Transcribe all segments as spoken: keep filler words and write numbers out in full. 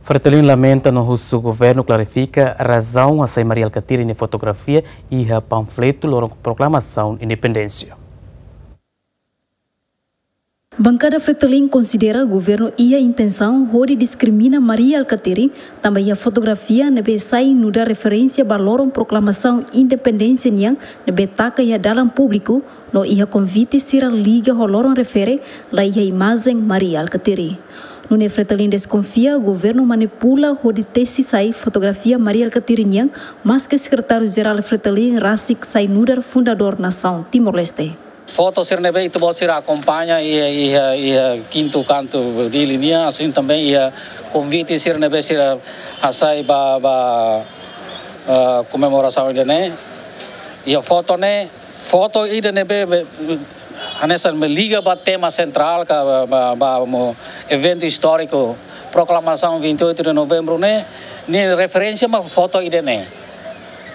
Fretilin lamenta no husu governu klarifika razaun hasai Mari Alkatiri nia fotografia iha panfletu loron proklamasaun independénsia. Bankada Fretilin konsidera governu iha intensaun hodi diskrimina Mari Alkatiri, tanba iha fotografia ne'ebé sai nu'udar referénsia ba loron proklamasaun independénsia nian ne'ebé taka iha dalan públiku, no iha konvite sira liga ho loron refere, la iha imajen Mari Alkatiri. Nune'e Fretilin deskonfia governu manipula hodi tesi sai fotografia Mari Alkatiri nian, maske Sekretáriu Jerál Fretilin rasik sai nu'udar fundadór nasaun Timor-Leste. Foto sira ne'ebé ita-boot sira akompaña iha, iha, iha kintu kantu Dili nian, asin também iha konvite sira ne'ebé sira hasai ba, ba, eh, komemorasaun ida-ne'e. Iha foto ne'e, foto ida ne'ebé, be, hanesan ne'ebé liga ba tema sentrál ka ba, ba, ba mo eventu istóriku, proklamasaun vinte e oito de novembro ne'e, nia referénsia mak foto ida-ne'e.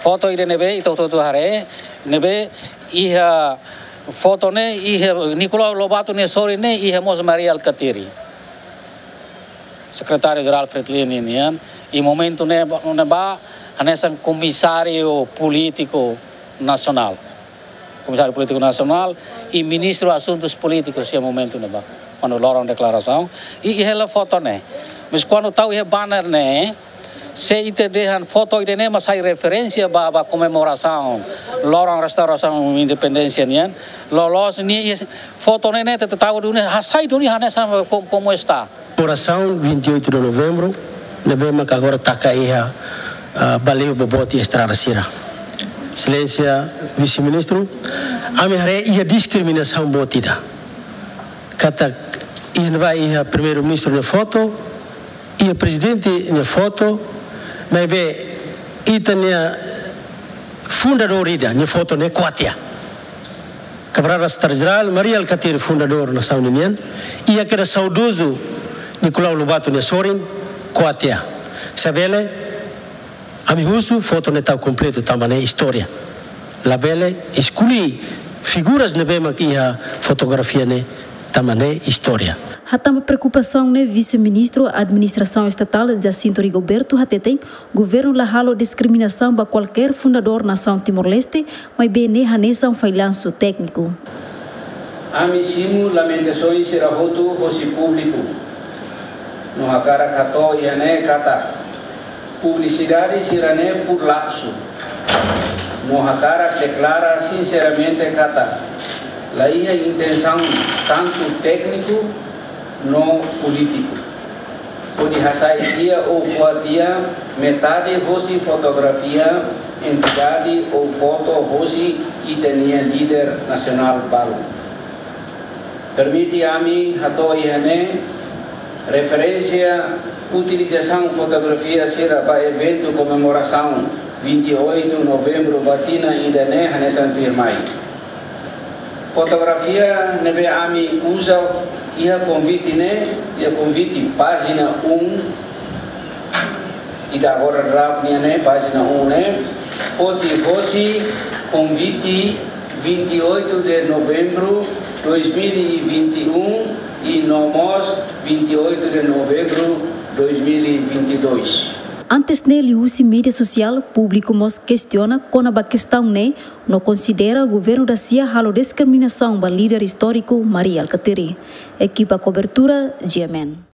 Foto ida ne'ebé, ita hotu-hotu haree, ne'ebé iha foto ne'e, iha Nicolau Lobato nia sorin ne'e, iha mós Mari Alkatiri. Sekretáriu Jerál Fretilin nian, i momentu ne'ebá, ne'ebá, hanesan komisáriu polítiku nasionál. Komisáriu Polítiku Nasionál i Ministru Asuntus Polítikus iha momentu ne'ebá. Kuandu loron deklarasaun, i, i hela foto ne'e. Mas kuandu tau iha banner ne'e, se ita dehan foto ida-ne'e mak sai referénsia ba, ba komemorasaun loron restaurasaun independénsia nian, loloos nia iha foto ne'e, ne'e ita tau duni, hasai duni hanesan ko-, komu está. Orasaun vinte e oito de novembro, ne'ebé maka agora taka iha, ah, baliu boboot iha estrada sira. Exelénsia Vise-Ministru, ami haree iha diskriminasaun boot ida. Katak iha ne'ebá iha Primeiru-Ministru nia foto, iha Prezidente nia foto, maibé ita-nia fundadór ida nia foto ne'e ko'a tiha. Kamarada Sekretáriu Jerál, Mari Alkatiri fundadór nasaun nian, iha kedas saudozu Nicolau Lobato nia sorin, ko'a tiha. Se bele, ami husu foto ne'e tau kompletu tanba ne'e istória. Labele eskuli figuras ne'ebé mak iha fotografia ne'e tanba ne'e istória. Hatán ba preokupasaun ne'e, Vise-Ministru Administrasaun Estatál Jacinto Rigoberto hateten, governu la halo diskriminasaun ba kualkér fundadór nasaun Timor-Leste, maibé ne'e hanesan fallansu tékniku. Ami simu lamentasaun sira hotu hosi públiku. No hakarak hato'o iha ne'e katak publisidade sira-ne'e pur lapsu. No hakarak deklara sinseramente katak la iha intensaun tantu tékniku no polítiku hodi hasai tiha ou ko'a tiha metade hosi fotografia, entidade ou foto hosi ita-nia líder nasionál balu. Permite ami hato'o iha ne'e referénsia utilizasaun fotografia sira ba eventu komemorasaun vinte e oito novembro ba tinan ida-ne'e hanesan tuirmai. Fotografia ne'ebé ami uza iha konvite ne'e, iha konvite pájina um, ita agora draft nian ne'e, pájina um ne'e, foti hosi konvite vinte e oito de novembro dois mil e vinte e um i no mós vinte e oito de novembro dois mil e vinte e dois. Antes ne'e, liuhusi média sosiál, públiku mós kestiona kona-ba kestaun ne'e, no konsidera governu dasia halo diskriminasaun ba líder istóriku Mari Alkatiri. Ekipa kobertura, G M N.